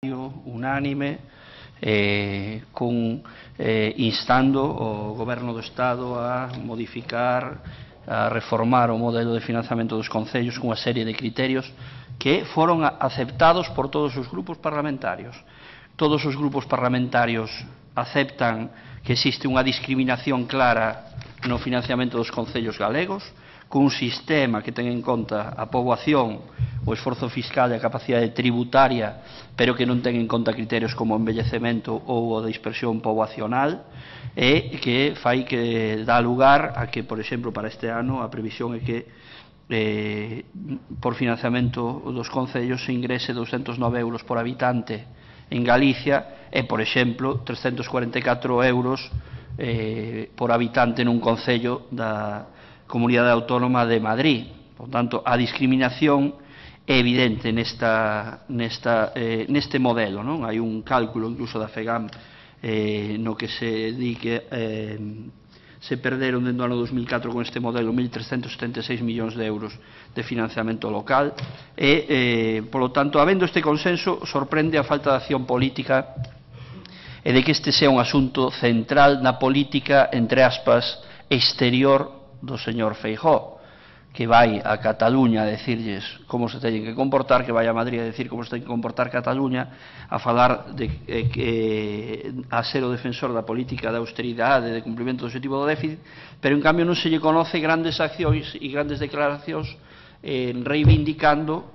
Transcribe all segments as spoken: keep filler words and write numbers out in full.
unánime eh, con, eh, instando o Goberno do Estado a modificar, a reformar o modelo de financiamento dos concellos cunha serie de criterios que foron aceptados por todos os grupos parlamentarios. Todos os grupos parlamentarios aceptan que existe unha discriminación clara no financiamento dos concellos galegos, cun sistema que ten en conta a poboación, o esforzo fiscal e a capacidade tributaria, pero que non ten en conta criterios como o envellecemento ou a dispersión poboacional, e que fai que dá lugar a que, por exemplo, para este ano a previsión é que eh, por financiamento dos concellos se ingrese douscentos nove euros por habitante en Galicia e, por exemplo, trescentos cuarenta e catro euros eh, por habitante nun concello da Comunidade Autónoma de Madrid. Por tanto, a discriminación é evidente nesta, nesta, eh, neste modelo, non? Hai un cálculo incluso da FEGAM eh, no que se di que eh, se perderon dentro do ano dos mil catro con este modelo mil trescentos setenta e seis millóns de euros de financiamento local e, eh, polo tanto, habendo este consenso, sorprende a falta de acción política e de que este sea un asunto central na política, entre aspas, exterior do señor Feijóo, que vai a Cataluña a decirlles como se teñen que comportar, que vai a Madrid a decir como se ten que comportar Cataluña, a falar de eh, que a ser o defensor da política de austeridade, de cumprimento do objetivo do déficit, pero en cambio non se lle conoce grandes accións e grandes declaracións eh, reivindicando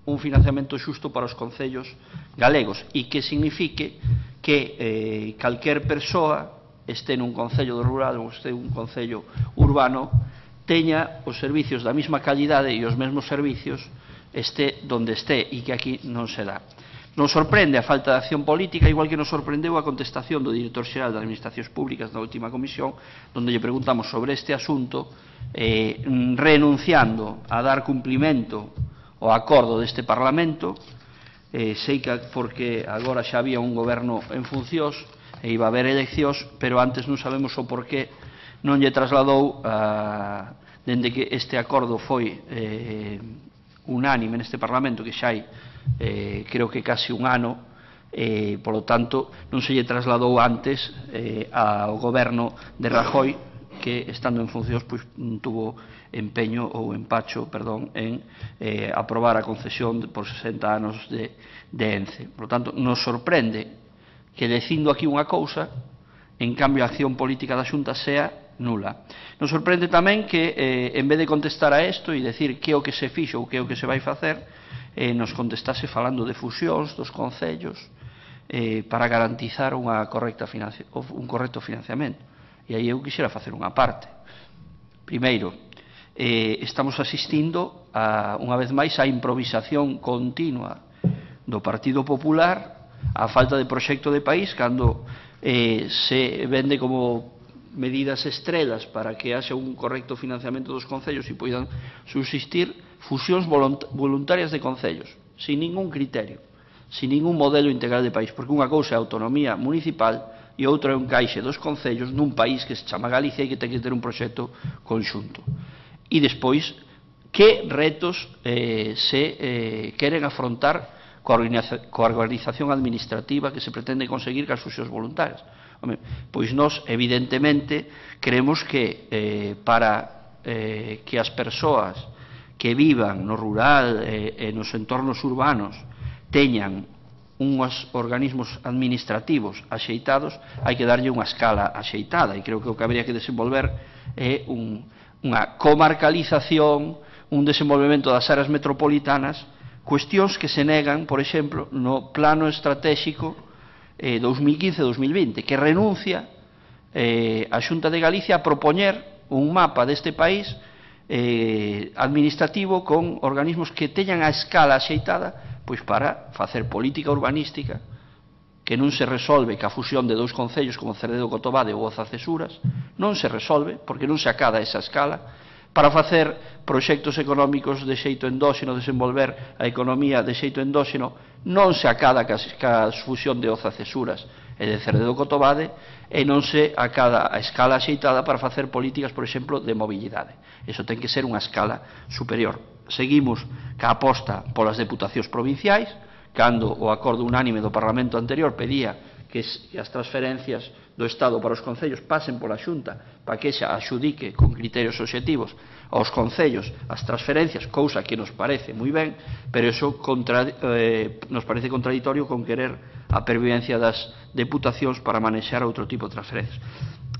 un financiamento xusto para os concellos galegos e que signifique que eh, calquer persoa este nun concello rural ou este un concello urbano teña os servicios da mesma calidade e os mesmos servicios este donde este e que aquí non se dá. Nos sorprende a falta de acción política, igual que nos sorprendeu a contestación do director xeral de Administracións Públicas na última comisión, onde lle preguntamos sobre este asunto, eh, renunciando a dar cumplimento ao acordo deste Parlamento, eh, sei que porque agora xa había un goberno en funcións e iba a haber eleccións, pero antes non sabemos o porqué non lle trasladou a, dende que este acordo foi eh, unánime neste Parlamento, que xa hai eh, creo que casi un ano, eh, polo tanto non se lle trasladou antes eh, ao goberno de Rajoy, que estando en funcións pois, tuvo empeño ou empacho, perdón, en eh, aprobar a concesión por sesenta anos de, de ENCE. Por tanto, nos sorprende que dicindo aquí unha cousa, en cambio a acción política da Xunta sea nula. Nos sorprende tamén que, eh, en vez de contestar a isto e decir que é o que se fixo ou que é o que se vai facer, eh, nos contestase falando de fusións dos concellos eh, para garantizar unha correcta un correcto financiamento. E aí eu quixera facer unha parte. Primeiro, eh, estamos asistindo, a, unha vez máis, a improvisación continua do Partido Popular, a falta de proxecto de país, cando eh, se vende como medidas estrelas para que haxa un correcto financiamento dos concellos e poidan subsistir fusións voluntarias de concellos, sin ningún criterio, sin ningún modelo integral de país, porque unha cousa é a autonomía municipal e outra é un caixe dos concellos nun país que se chama Galicia e que ten que ter un proxecto conxunto. E despois, que retos eh, se eh, queren afrontar coa organización administrativa que se pretende conseguir cas fusións voluntarias. Home, pois nós, evidentemente, creemos que eh, para eh, que as persoas que vivan no rural e eh, nos entornos urbanos teñan uns organismos administrativos axeitados, hai que darlle unha escala axeitada, e creo que o que habría que desenvolver é un, unha comarcalización, un desenvolvemento das áreas metropolitanas, cuestións que se negan, por exemplo, no plano estratégico eh, dos mil quince a dos mil vinte, que renuncia eh, a Xunta de Galicia a propoñer un mapa deste país eh, administrativo con organismos que teñan a escala axeitada pois para facer política urbanística que non se resolve ca fusión de dous concellos como Cerdedo Cotobade ou Oza-Cesuras, non se resolve porque non se acada esa escala, para facer proxectos económicos de xeito endóxeno, desenvolver a economía de xeito endóxeno, non se acada ca fusión de Oza-Cesuras e de Cerdedo Cotobade e non se acada a escala axeitada para facer políticas, por exemplo, de mobilidade. Iso ten que ser unha escala superior. Seguimos ca aposta polas deputacións provinciais, cando o acordo unánime do Parlamento anterior pedía que as transferencias do Estado para os concellos pasen pola Xunta para que xa axudique con criterios obxectivos aos concellos as transferencias, cousa que nos parece moi ben, pero iso contra, eh, nos parece contradictorio con querer a pervivencia das deputacións para manexar outro tipo de transferencias.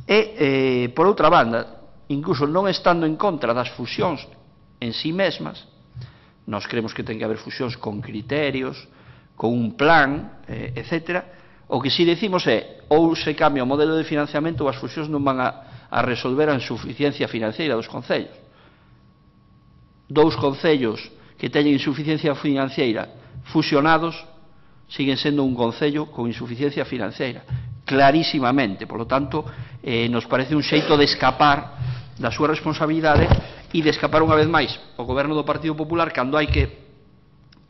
E, eh, por outra banda, incluso non estando en contra das fusións en sí mesmas, nós creemos que ten que haber fusións con criterios, con un plan, eh, etcétera. O que si decimos é, ou se cambia o modelo de financiamento ou as fusións non van a, a resolver a insuficiencia financeira dos concellos. Dous concellos que teñen insuficiencia financeira fusionados siguen sendo un concello con insuficiencia financeira, clarísimamente. Por lo tanto, eh, nos parece un xeito de escapar da súa responsabilidade e de escapar unha vez máis o goberno do Partido Popular cando hai que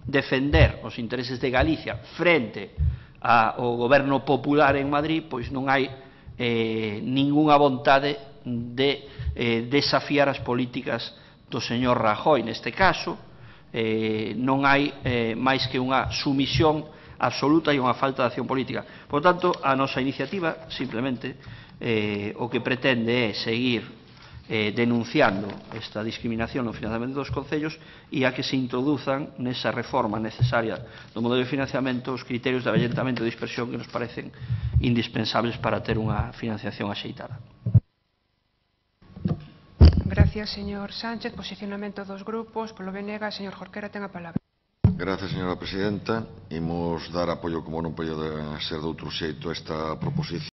defender os intereses de Galicia frente ao goberno popular en Madrid, pois non hai eh, ningunha vontade de eh, desafiar as políticas do señor Rajoy. Neste caso, eh, non hai eh, máis que unha sumisión absoluta e unha falta de acción política. Por tanto, a nosa iniciativa simplemente eh, o que pretende é seguir eh, denunciando esta discriminación no financiamento dos concellos e a que se introduzan nesa reforma necesaria do modelo de financiamento os criterios de avellentamento e dispersión que nos parecen indispensables para ter unha financiación axeitada. Gracias, señor Sánchez. Posicionamento dos grupos. Polo B N G, señor Jorquera, ten a palabra. Gracias, señora presidenta. Imos dar apoio, como non podo ser de outro xeito, a esta proposición.